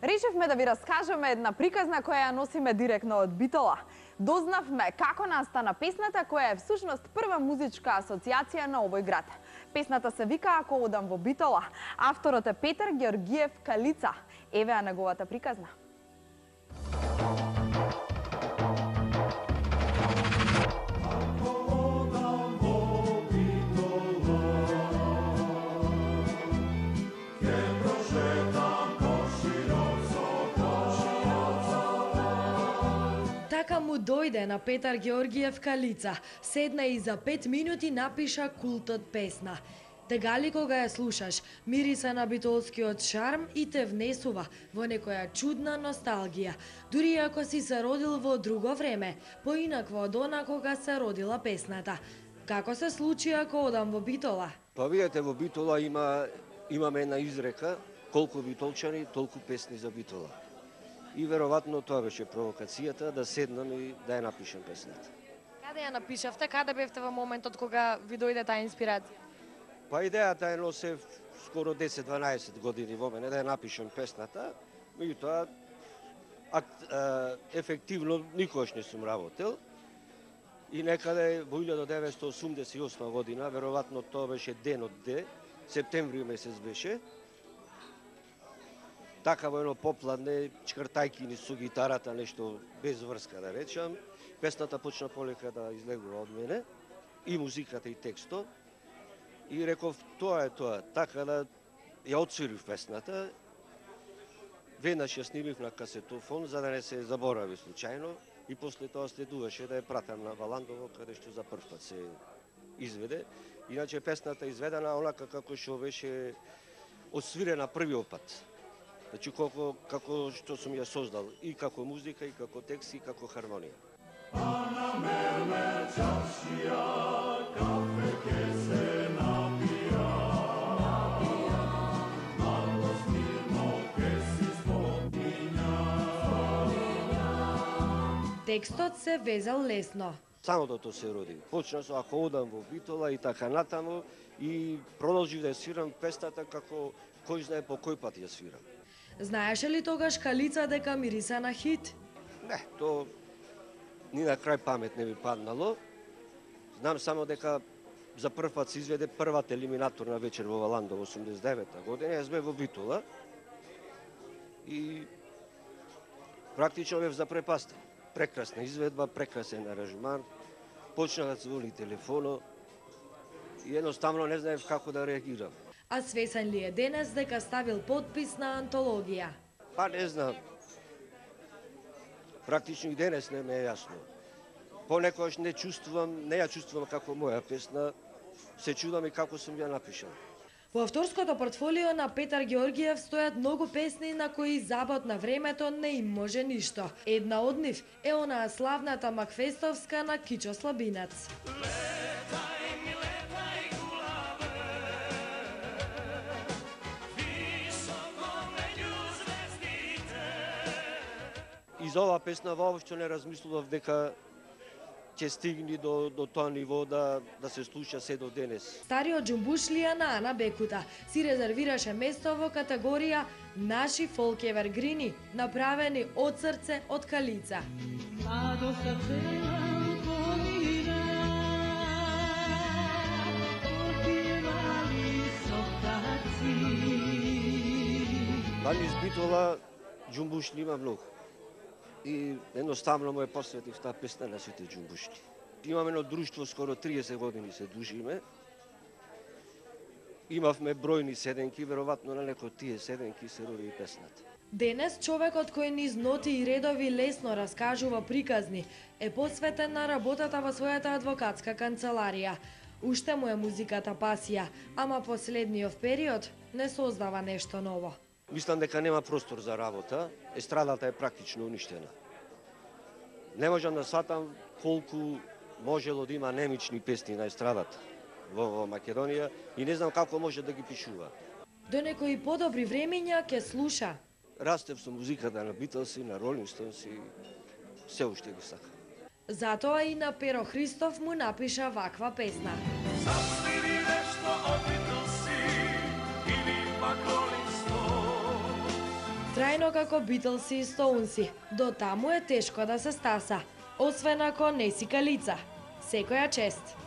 Решивме да ви раскажеме една приказна која ја носиме директно од Битола. Дознавме како настана песната која е всушност прва музичка асоциација на овој град. Песната се вика Ако одам во Битола. Авторот е Петар Георгиев Калица. Еве неговата приказна. Така му дојде на Петар Георгиев Калица, седна и за 5 минути напиша култот песна. Тегали кога ја слушаш, мириса на битолскиот шарм и те внесува во некоја чудна носталгија, дури ако си се родил во друго време, поинакво од она кога се родила песната. Како се случи Ако одам во Битола? Па видете, во Битола имаме една изрека, колку битолчани, толку песни за Битола. И веројатно тоа беше провокацијата да седнам и да ја напишам песната. Каде ја напишавте? Каде бевте во моментот кога ви дојде таа инспирација? Па идејата ја носев скоро 10-12 години во мене да ја напишам песната, меѓутоа ефективно никогаш не сум работел. И некаде во 1988 година, веројатно тоа беше денот Д, септември месец беше, така во едно попладне, чкртајки ни со гитарата, нешто без врска да речам, песната почна полека да излегува од мене, и музиката и текстот, и реков тоа е тоа, така да ја отсвирив песната, веднаш ја снимив на касетофон, за да не се заборави случајно, и после тоа следуваше да ја пратам на Валандово, каде што за прв пат се изведе. Иначе песната изведена онака како што беше освирена првиот пат. Значи, како што сум ја создал, и како музика, и како текст, и како хармонија. Текстот се везал лесно. Самото се роди. Почна со Ако одам во Битола и така натаму, и продолжив да ја свирам песната како кој знае по кој пат ја свирам. Знаеше ли тогаш Калица дека мириса на хит? Не, то ни на крај памет не ми паднало. Знам само дека за прв пат се изведе првата елиминаторна вечер во Валандово 89-та година, јас бев во Битола и практично бев запрепастен. Прекрасна изведба, прекрасен аранжман, почна да звони телефоно и едноставно не знаев како да реагирам. А свесен ли е денес дека ставил подпис на антологија? Па не знам. Практично и денес не ме е јасно. Понекогаш не ја чувствувам како моја песна, се чудам и како сум ја напишал. Во авторското портфолио на Петар Георгиев стојат многу песни на кои забот на времето не им може ништо. Една од нив е онаа славната Макфестовска на Кичо Слабинец. И за оваа песна воопшто не размислував дека ќе стигни до тоа ниво да се слуша се до денес. Стариот џумбушлија на Ана Бекута си резервираше место во категорија Наши фолк евергрини, направени од срце од Калица. Вали из Битола џумбушли има многу. И едноставно му е посветив таа песна на сите џумбушли. Имаме едно друштво, скоро 30 години се дружиме. Имавме бројни седенки, веројатно на некои од тие седенки се роди и песната. Денес човекот кој низ ноти и редови лесно раскажува приказни е посветен на работата во својата адвокатска канцеларија. Уште му е музиката пасија, ама последниот период не создава нешто ново. Мислам дека нема простор за работа, естрадата е практично уништена. Не можам да сватам колку можело да има немични песни на естрадата во Македонија и не знам како може да ги пишува. До некои подобри времења ќе слуша. Растев со музиката на Битлси, на Ролинг Стоунс и се уште ги сакам. Затоа и на Перо Христов му напиша ваква песна. Засвири нешто од Битлси или пак Ролинг Стоунс. трајно како Битлси и Стоунси. До таму е тешко да се стаса, освен ако не си калица. Секоја чест!